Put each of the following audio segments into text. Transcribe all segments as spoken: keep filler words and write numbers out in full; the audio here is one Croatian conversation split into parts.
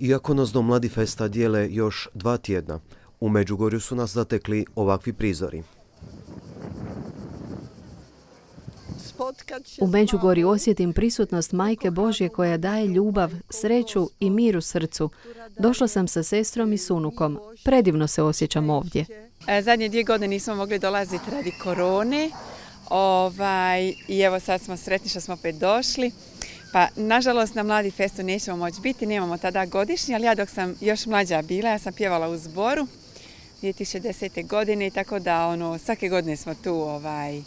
Iako nas do Mladi Festa dijele još dva tjedna, u Međugorju su nas zatekli ovakvi prizori. U Međugorju osjetim prisutnost Majke Božje koja daje ljubav, sreću i mir u srcu. Došla sam sa sestrom i s unukom. Predivno se osjećam ovdje. Zadnje dvije godine nismo mogli dolaziti radi korone. Ovaj, I evo sad smo sretni što smo opet došli. Pa, nažalost, na Mladi Festu nećemo moći biti, nemamo tada godišnji, ali ja dok sam još mlađa bila, ja sam pjevala u zboru dvije tisuće desete. godine, tako da ono, svake godine smo tu ovaj,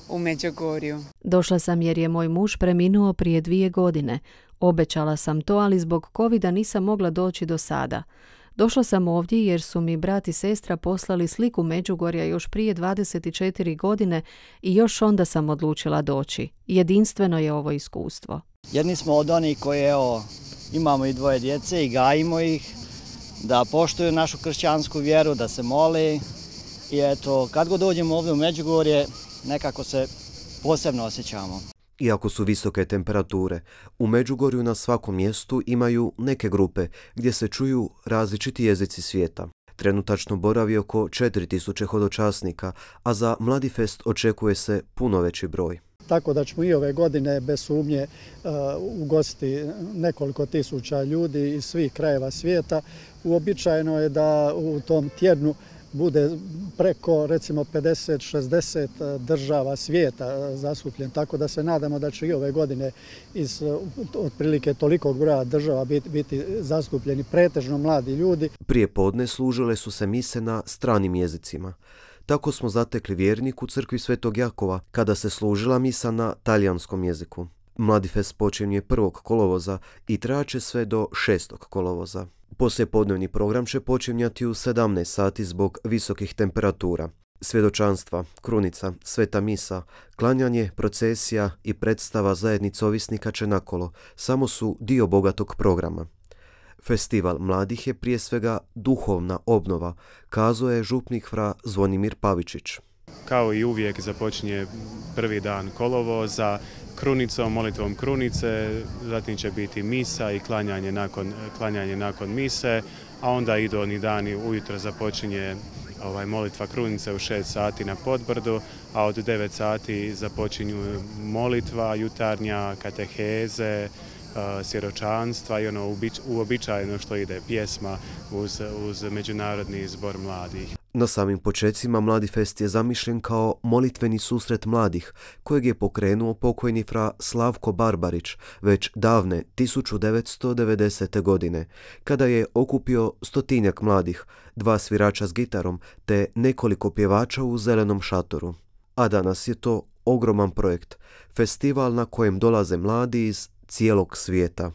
u Međugorju. Došla sam jer je moj muž preminuo prije dvije godine. Obećala sam to, ali zbog covida nisam mogla doći do sada. Došla sam ovdje jer su mi brat i sestra poslali sliku Međugorja još prije dvadeset četiri godine i još onda sam odlučila doći. Jedinstveno je ovo iskustvo. Jedni smo od onih koji evo, imamo i dvoje djece i gajimo ih, da poštuju našu kršćansku vjeru, da se mole. I eto, kad god dođemo ovdje u Međugorje, nekako se posebno osjećamo. Iako su visoke temperature, u Međugorju na svakom mjestu imaju neke grupe gdje se čuju različiti jezici svijeta. Trenutačno boravi oko četiri tisuće hodočasnika, a za Mladi Fest očekuje se puno veći broj. Tako da ćemo i ove godine bez sumnje uh, ugostiti nekoliko tisuća ljudi iz svih krajeva svijeta. Uobičajeno je da u tom tjednu bude preko recimo pedeset šezdeset država svijeta zastupljen, tako da se nadamo da će i ove godine iz otprilike tolikog broja država biti, biti zastupljeni pretežno mladi ljudi. Prije podne služile su se mise na stranim jezicima. Tako smo zatekli vjernik u crkvi Svetog Jakova kada se služila misa na talijanskom jeziku. Mladi Fest počinje prvog kolovoza i trajaće sve do šestog kolovoza. Poslijepodnevni program će počinjati u sedamnaest sati zbog visokih temperatura. Svjedočanstva, krunica, sveta misa, klanjanje, procesija i predstava zajednice ovisnika Čenakolo samo su dio bogatog programa. Festival mladih je prije svega duhovna obnova, kazao je župnik fra Zvonimir Pavičić. Kao i uvijek započinje prvi dan kolovoza krunicom, molitvom krunice, zatim će biti misa i klanjanje nakon, klanjanje nakon mise, a onda idu oni dani, ujutro započinje ovaj, molitva krunice u šest sati na Podbrdu, a od devet sati započinju molitva jutarnja, kateheze, svjedočanstva i ono uobičajeno što ide pjesma uz, uz Međunarodni zbor mladih. Na samim počecima Mladi Fest je zamišljen kao molitveni susret mladih, kojeg je pokrenuo pokojni fra Slavko Barbarić već davne tisuću devetsto devedesete. godine, kada je okupio stotinjak mladih, dva svirača s gitarom te nekoliko pjevača u zelenom šatoru. A danas je to ogroman projekt, festival na kojem dolaze mladi iz cijelog svijeta.